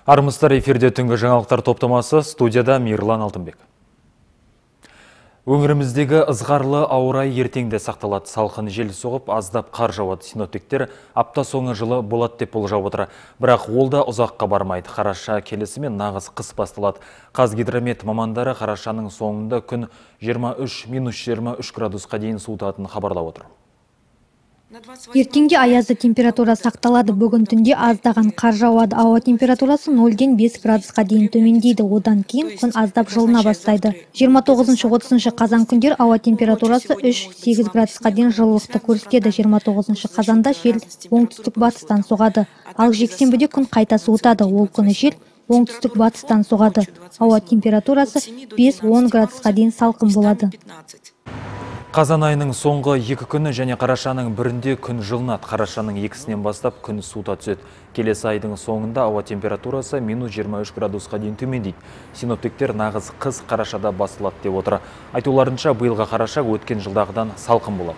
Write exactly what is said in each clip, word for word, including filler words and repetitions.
Армысыздар, эфирде түнгі жаңалықтар топтамасы, студияда Мирлан Алтынбек. Өңіріміздегі ызғарлы ауа райы ертеңде сақталады. Салқын жел соғып, аздап қар жауады. Синоптиктер апта соңы жылы болады деп болжап отыр. Бірақ ол да ұзаққа бармайды. Қараша келісімен нағыз қыс басталады. Қазгидромет мамандары қарашаның соңында күн жиырма үш минус жиырма үш градусқа дейін суытатынын хабарлап отыр. Ертеңге аязды температура сақталады. Бүгін түнде аздаған қар жауады. Ауа температурасы нөлден бес градусқа дейін төмендейді. Одан кейін күн аздап жылына бастайды. жиырма тоғызыншы отызыншы қазан күндер ауа температурасы үш сегіз градусқа дейін жылылықты көрсетеді. жиырма тоғызыншы қазанда жел оңтүстік батыстан соғады. Ал жексенбіде күн қайта суытады. Ол күні жел оңтүстік батыстан соғады. Ауа температурасы бес он градусқа дейін салқын болады. Қазан айының соңғы екі күні және қарашаның бірінде күн жылынады. Қарашаның екісінен бастап күн суыта түседі. Келесі айдың соңында ауа температурасы минус жиырма үш градусқа дейін төмендейді. Синоптиктер нағыз қыс қарашада басылады деп отыр. Айтуларынша, биылғы қараша өткен жылдағыдан салқын болады.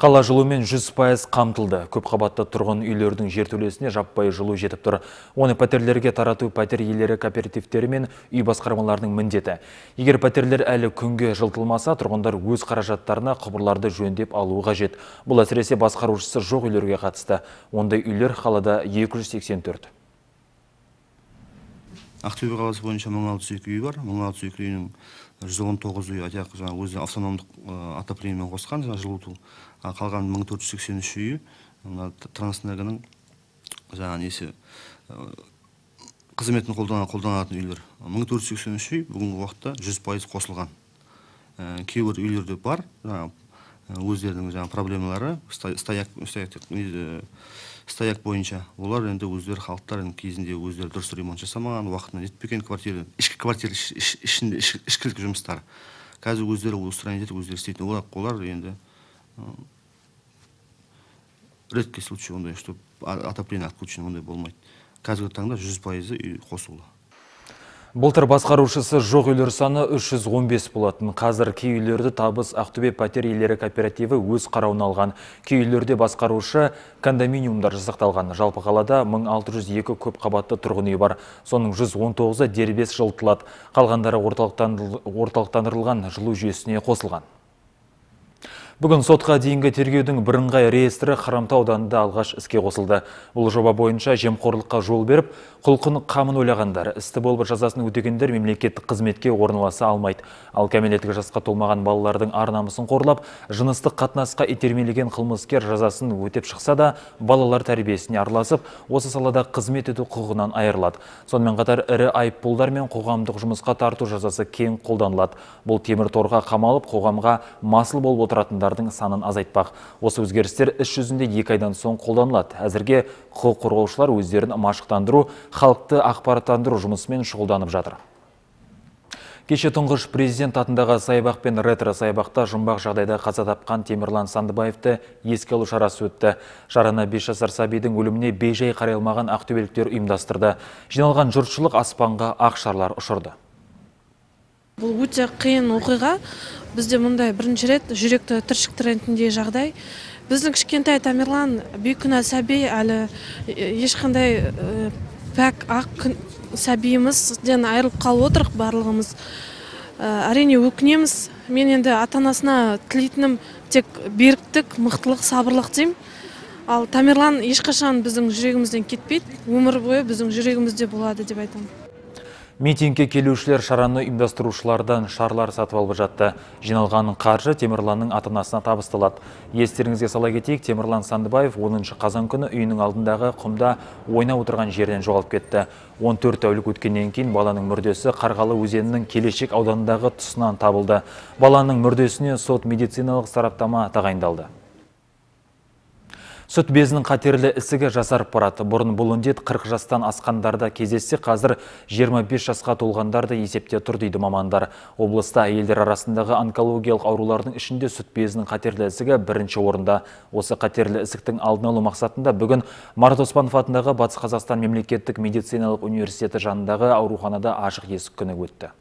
Қала жылумен жүз пайыз қамтылды. Көп қабатты тұрғын үйлердің жертөлесіне жаппай жылу жетіп тұр. Оны пәтерлерге тарату пәтер иелері кооперативтері мен үй басқармаларының міндеті. Егер пәтерлер әлі күнге жылтылмаса, тұрғындар өз қаражаттарына құбырларды жөндеп алуы қажет. Бұл әсіресе басқарушысы жоқ үйлерге қатысты. Ондай үйлер қалада екі жүз сексен төрт. Ақтөбе қаласы бойынша мың алты жүз екі үй бар. мың алты жүз екі үйінің жүз он тоғыз үй өзі автономдық отоплениемен қосқан жылыту. Қалған мың төрт жүз сексен үш үйі Трансэнергоның жаңағы несі қызметін қолданатын үйлер. мың төрт жүз сексен үш үй бүгінгі уақытта жүз пайыз қосылған. Кейбір үйлерде бар, өздерінің жаңағы проблемалары, стояк бойынша. Олар енді өздері халықтар кезінде өздері дұрыс ремонт жасамаған, уақытына жетпеген квартира, ішкі квартира ішінде ішкілік жұмыстар. Қазір өздері устранить етіп, өздері істейтін. Олар енді редкий случай ондай, что отопление отключено, ондай болмайды. Қазіргі таңда жүз пайыз қосулы. Былтыр басқарушысы жоқ үйлер саны үш жүз он бес болатын. Қазір кей үйлерді Табыс Ақтөбе пәтер иелері кооперативі өз қарауына алған. Кей үйлерде басқарушы кондоминиумдар жасақталған. Жалпы қалада мың алты жүз екі көп қабатты тұрғын үй бар. Соның жүз он тоғызы дербес жылытылады. Қалғандары орталықтандырылған жылу жүйесіне қосылған. Бүгін сотқа дейінгі тергеудің бірыңғай реестрі Хромтау ауданында алғаш іске қосылды. Бұл жоба бойынша жемқорлыққа жол беріп, құлқын қамын ойлағандар, істі болып жазасын өтегендер мемлекеттік қызметке орналаса алмайды. Ал кәмелеттік жасқа толмаған балалардың ар-намысын қорлап, жыныстық қатынасқа итермелеген қылмыскер жазасын өтеп шықса да, балалар тәрбиесіне араласып, осы салада қызмет ету құқығынан айырылады. Сонымен қатар ірі айыппұлдар мен қоғамдық жұмысқа тарту жазасы кең қолданылады. Бұл темір торға қамалып, қоғамға масыл болып отыратындар санын азайтпақ. Осы өзгерістер іс жүзінде екі айдан соң қолданылады. Әзірге құқық қорғаушылар өздерін машықтандыру, халықты ақпараттандыру жұмысымен шұғылданып жатыр. Кеше тұңғыш президент атындағы саябақ пен ретро саябақта жұмбақ жағдайда қаза тапқан Темірлан Сандыбаевты еске алу шарасы өтті. Шараны бес жасар сәбидің өліміне бейжай қарай алмаған ақтөбеліктер ұйымдастырды. Жиналған жұртшылық аспанға ақ шарлар ұшырды. Бұл өте қиын оқиға. Бізде мұндай бірінші рет жүректі түршіктіретіндей жағдай. Біздің кішкентай Тамерлан бейкүнә сәби әлі ешқандай пәк ақ сәбиімізден айырылып қалып отырық барлығымыз. Әрине өкінеміз. Мен енді ата-анасына тілейтінім тек беріктік, мықтылық, сабырлық деймін. Ал Тамерлан ешқашан біздің жүрегімізден кетпейді. Өмір бойы біздің жүрегімізде болады деп айтамын. Митингке келушілер шараны ұйымдастырушылардан шарлар сатып алып жатты. Жиналған қаржы Темірланның ата-анасына табысталады. Естеріңізге сала кетейік, Темірлан Сандыбаев оныншы қазан күні үйінің алдындағы құмда ойнап отырған жерден жоғалып кетті. он төрт тәулік өткеннен кейін баланың мүрдесі Қарғалы өзенінің Келешек ауданындағы тұсынан табылды. Баланың мүрдесіне сот медициналық сараптама тағайындалды. Сүт безінің қатерлі ісігі жасарып барады. Бұрын бұл індет қырық жастан асқандарда кездессе, қазір жиырма бес жасқа толғандарды есепте тұр дейді мамандар. Облыста әйелдер арасындағы онкологиялық аурулардың ішінде сүт безінің қатерлі ісігі бірінші орында. Осы қатерлі ісіктің алдын алу мақсатында бүгін Марат Оспанов атындағы Батыс Қазақстан мемлекеттік медициналық университеті жанындағы ауруханада ашық есік күні өтті.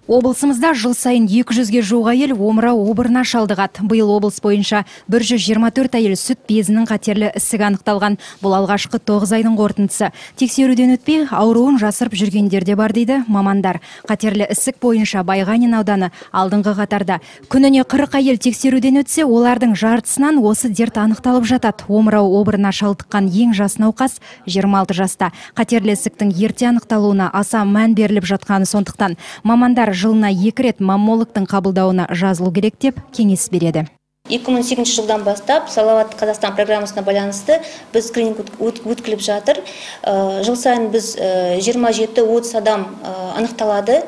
Облысымызда жыл сайын екі жүзге жуық әйел омырау обырына шалдығады. Биыл облыс бойынша бір жүз жиырма төрт әйел сүт безінің қатерлі ісік анықталған. Бұл алғашқы тоғыз айдың қорытындысы. Тексеруден өтпей, ауруын жасырып жүргендер де бар дейді мамандар. Қатерлі ісік бойынша Байғанин ауданы алдыңғы қатарда. Күніне қырық әйел тексеруден өтсе, олардың жартысынан осы дерт анықталып жатады. Омырау обырына шалдыққан ең жас науқас жиырма алты жаста. Қатерлі ісіктің ерте анықталуына аса мән беріліп жатқаны сондықтан мамандар жылына екі рет маммологтың қабылдауына жазылу керек деп кеңес береді. екі мың сегізінші жылдан бастап Салауатты Қазақстан программасына байланысты біз скрининг өткізіліп жатыр. Жыл сайын біз жиырма жеті отыз адам анықталады.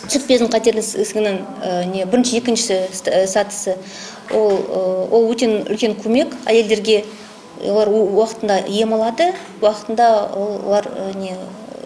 Сүт безінің қатерлі ісігінің бірінші екінші сатысы ол өте үлкен көмек әйелдерге. Олар уақытында ем алады, уақытында олар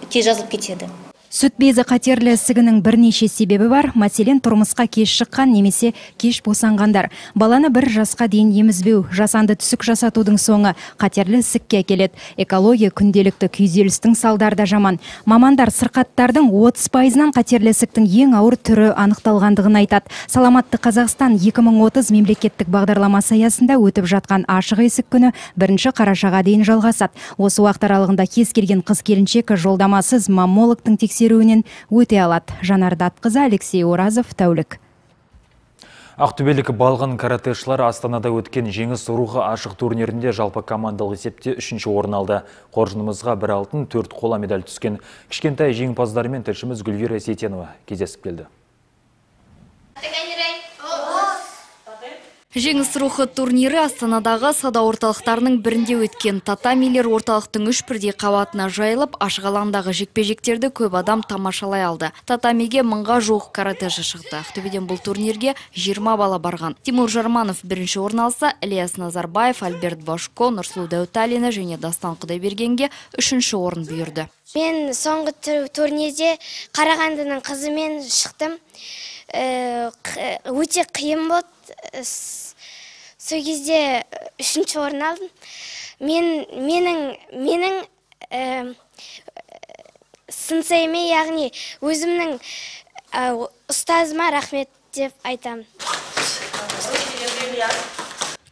тез жазылып кетеді. Сүт безі қатерлі ісігінің бірнеше себебі бар. Мәселен, тұрмысқа кеш шыққан немесе кеш босанғандар. Баланы бір жасқа дейін емізбеу, жасанды түсік жасатудың соңы қатерлі ісікке әкеледі. Экология күнделікті күйзелістің салдары да жаман. Мамандар сырқаттардың отыз пайызынан қатерлі ісіктің ең ауыр түрі анықталғандығын айтады. Саламатты Қазақстан екі мың отыз мемлекеттік бағдарламасы аясында өтіп жатқан ашық есік күні бірінші қарашаға дейін жалғасады. Осы уақыт аралығында кез келген қыз келіншек жолдамасыз маммологтың тексеруінен өте алады. Жанар Датқызы, Алексей Оразов, тәулік. Ақтөбелік балғын каратэшылар Астанада өткен жеңіс рухы ашық турнирінде жалпы командалық есепте үшінші орын алды. Қоржынымызға бір алтын, төрт қола медаль түскен кішкентай жеңімпаздармен тілшіміз Гүлвира Сейтенова кездесіп келді. Жеңіс рухы турнирі Астанадағы сауда орталықтарының бірінде өткен. Татамилер орталықтың үш бірдей қабатына жайылып, ашық алаңдағы жекпе-жектерді көп адам тамашалай алды. Татамиге мыңға жуық каратэші шықты. Ақтөбеден бұл турнирге жиырма бала барған. Тимур Жарманов бірінші орын алса, Ильяс Назарбаев, Альберт Башко, Нұрсұлу Дәуталина және Дастан Құдайбергенге үшінші орын бұйырды. Мен соңғы турнирде Қарағандының қызымен шықтым. Өте қиын болды. Сол кезде үшінші орын алдым. Мен менің менің сынсайыме, яғни өзімнің ұстазыма рахмет деп айтамын.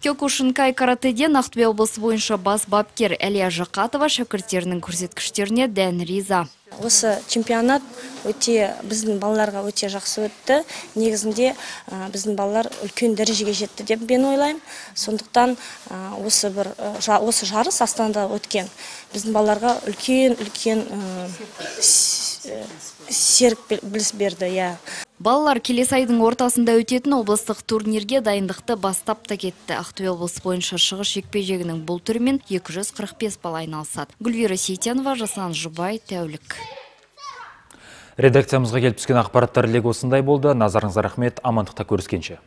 Кёкушинкай каратэден Ақтөбе облысы бойынша бас бапкер Әлия Жақатова шәкірттерінің көрсеткіштеріне дән риза. Осы чемпионат өте біздің балаларға өте жақсы өтті. Негізінде біздің балалар үлкен дәрежеге жетті деп мен ойлаймын. Сондықтан осы бір осы жарыс Астанада өткен біздің балаларға үлкен үлкен серік біліс берді, я. Балалар келесі айдың ортасында өтетін облыстық турнирге дайындықты бастап та кетті. Ақтөбе облысы бойынша шығыс жекпе-жегінің бұл түрімен екі жүз қырық бес бала айналысады. Гүлвира Сейтенова, Жасан Жұбай, тәулік. Редакциямызға келіп түскен ақпараттар легі осындай болды. Назарыңызға рахмет, амандықта көріскенше.